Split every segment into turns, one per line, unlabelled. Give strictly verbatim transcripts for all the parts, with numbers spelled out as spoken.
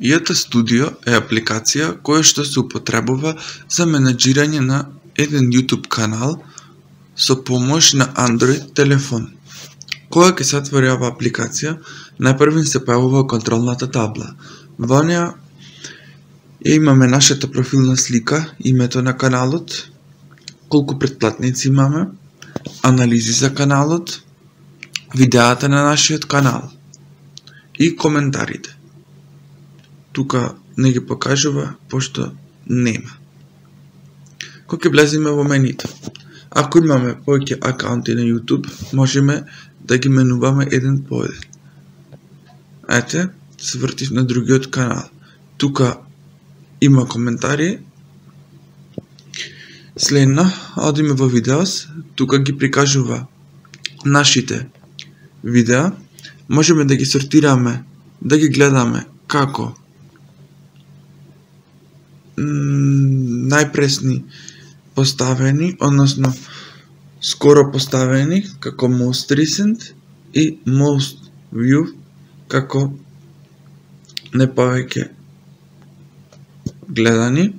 и ете Studio е апликација која што се употребува за менаџирање на еден YouTube канал со помош на Android телефон. Кога ќе се отвори оваа апликација, најпрвен се појавува контролната табла. Во неа имаме нашата профилна слика, името на каналот, колку претплатници имаме, анализи за каналот, видеата на нашиот канал и коментарите. Тука не ги покажува, пошто нема. Кога ќе влеземе во менито, ако имаме повеќе акаунти на YouTube, можеме да ги менуваме еден по еден. Ете, се вртив на другиот канал. Тука има коментари. Следно, одиме во видеос, тука ги прикажува нашите видеа. Можеме да ги сортираме, да ги гледаме како најпресни поставени, односно скоро поставени, како most recent и most view, како не повеќе гледани.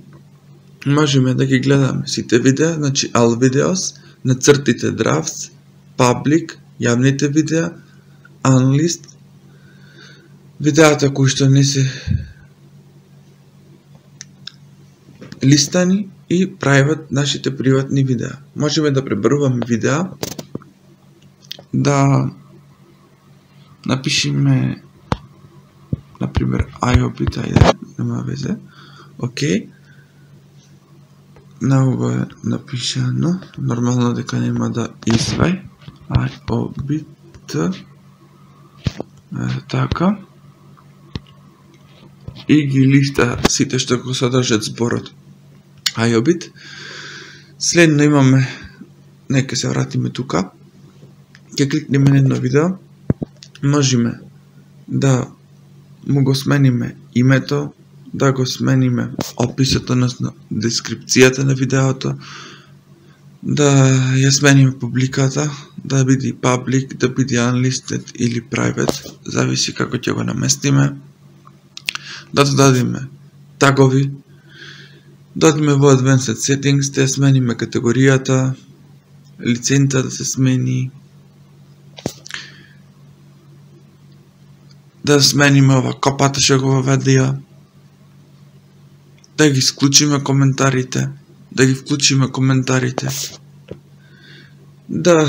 Можеме да ги гледаме сите видеа, значи all videos, нацртите drafts, public, јавните видеа, unlist, видеата кои што не се листани и private, нашите приватни видеа. Можеме да пребаруваме видеа, да напишеме например iObit, ајде, нема везе. Океј. На ова е напишано, нормално дека нема да извај. iObit. Така. И ги листа сите што го содржат зборот iObit. Следно имаме, нека се вратиме тука. Ќе кликнеме на едно видео. Можеме да му го смениме името, да го смениме описот, односно дескрипцијата на видеото, да ја смениме публиката, да биде public, да биде unlisted или private, зависи како ќе го наместиме. Да додадиме тагови, додадиме во Advanced Settings, да ја смениме категоријата, лиценца да се смени, да смениме ова копата што го воведија, да ги исклучиме коментарите, да ги вклучиме коментарите, да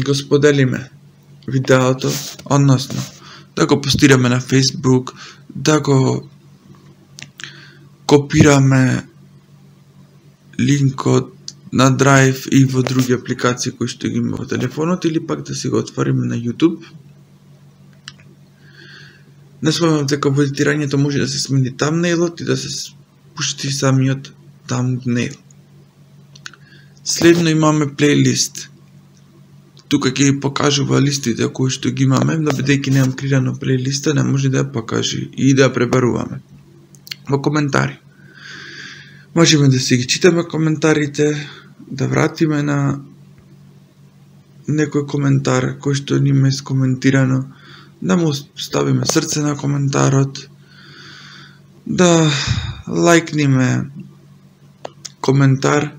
го споделиме видеото, односно да го постираме на Facebook, да го копираме линкот на Drive и во други апликации кои што ги има во телефонот, или пак да си го отвориме на YouTube. Не спомнам дека во едитирањето може да се смени thumbnailот и да се пушти самиот thumbnail. Следно имаме плейлист. Тука ќе ги покажува листите кои што ги имаме, но бидејќи немам креирано плейлиста, не може да ја покажи и да ја пребаруваме. Во коментари. Можеме да си ги читаме коментарите, да вратиме на некој коментар кој што нима е скоментирано, да му ставиме срце на коментарот, да лајкниме коментар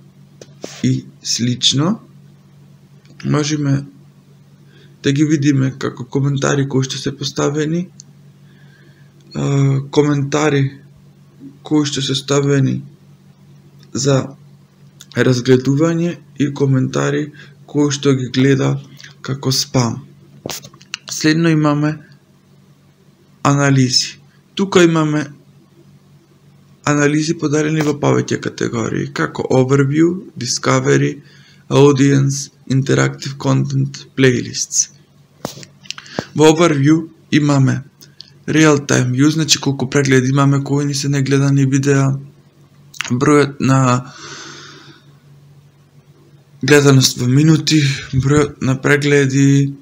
и слично. Можеме да ги видиме како коментари кои што се поставени, коментари кои што се ставени за разгледување и коментари кои што ги гледа како спам. Следно имаме анализи. Тука имаме анализи поделени во повеќе категории, како Overview, Discovery, Audience, Interactive Content, Playlists. Во Overview имаме Real Time View, значи колку прегледи имаме, кои ни се негледани видеа, бројот на гледаност во минути, бројот на прегледи,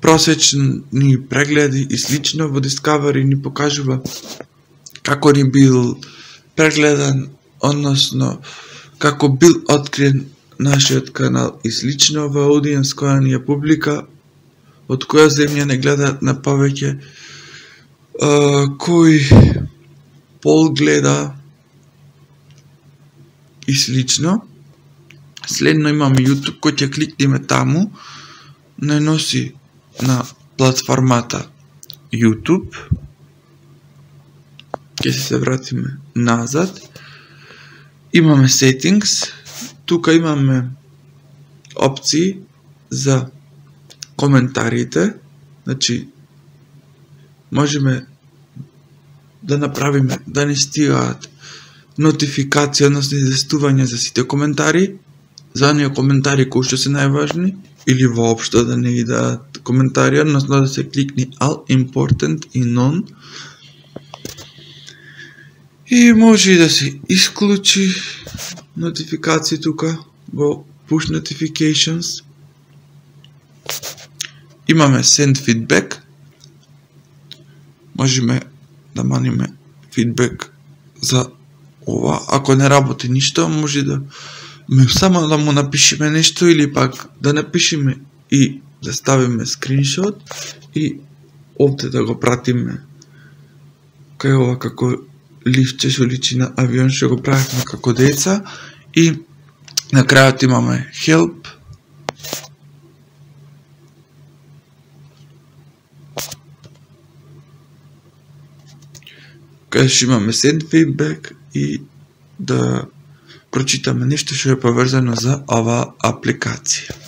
просечни прегледи и слично. Во Discovery ни покажува како ни бил прегледан, односно како бил откриен нашиот канал и слично. Во Audience, која ни е публика, од која земја не гледаат на повеќе, кој пол гледа и слично. Следно имаме YouTube, кој ќе кликнеме таму, не носи на платформата YouTube. Ќе се вратиме назад. Имаме Settings, тука имаме опции за коментарите, значи можеме да направиме да ни стигаат нотификација, односно известување за сите коментари, за оние коментари кои што се најважни, или воопшто да не идат коментари, односно да се кликни All Important и None. И може и да се исклучи нотификации тука во Push Notifications. Имаме Send Feedback. Можеме да маниме фидбек за ова. Ако не работи ништо, може да само да му напишеме нешто или пак да напишеме и да ставиме скриншот и овде да го пратиме кај ова како лифче што личи на авион што го правихме како деца. И на крајот имаме Help. Кај што имаме Send Feedback и да прочитаме нешто што е поврзано за оваа апликација.